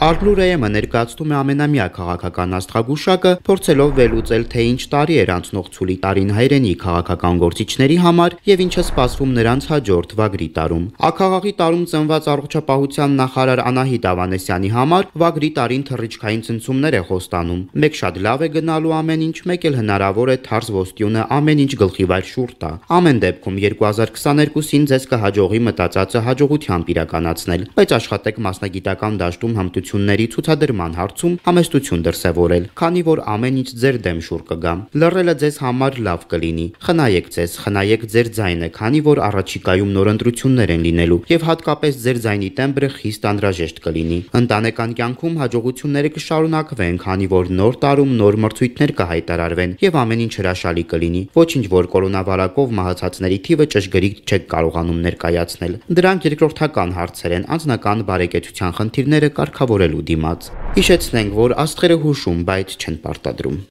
Արգլուրեյեմը ներկայացնում է ամենամյա քաղաքական աստղագուշակը, փորձելով վերլուծել, թե ինչ տարի էր անցնող ցուլի տարին հայրենի քաղաքական գործիչների համար եւ ինչ է սպասվում նրանց հաջորդ վագրի տարում։ Աքաղաղի տարում ծնված առողջապահության նախարար Անահիտ Ավանեսյանի համար վագրի տարին թռիչքային ցնցումներ է խոստանում։ Մեկ շատ լավ է գնալու ամեն ինչ, մեկ էլ հնարավոր է թարզ ոսტյունը ամեն ինչ գլխիվայր շուռ տա։ Ամեն դեպքում 2022-ին ձեզ կհաջողի մտածածը հաջողությամբ իրականացնել, բայց աշխատեք մասնագիտական դաշտում հմտությունների ցուցադրման հարցում համեստություն դրսևորել, քանի որ ամեն ինչ ձեր դեմ շուռ կգա։ Լռելը ձեզ համար լավ կլինի։ Խնայեք ձեզ, խնայեք ձեր ձայնը, քանի որ առաջիկայում նոր ընտրություններ են լինելու եւ հատկապես ձեր ձայնի տեմբրը խիստ անհրաժեշտ կլինի։ Ընտանեկան կյանքում հաջողությունները կշարունակվեն, քանի որ նոր տարում նոր մրցույթներ կհայտարարվեն եւ ամեն ինչ հրաշալի կլինի։ Ոչինչ, որ կորոնավարակով մահացածների թիվը ճշգրիտ չեք կարողանում ներկայացնել։ Դրանք երկրորդական հարցեր են, անձնական բարեկեցության խնդիրները կարգավորելու դիմաց։ Հիշեցնենք, որ աստղերը հուշում, բայց չեն պարտադրում։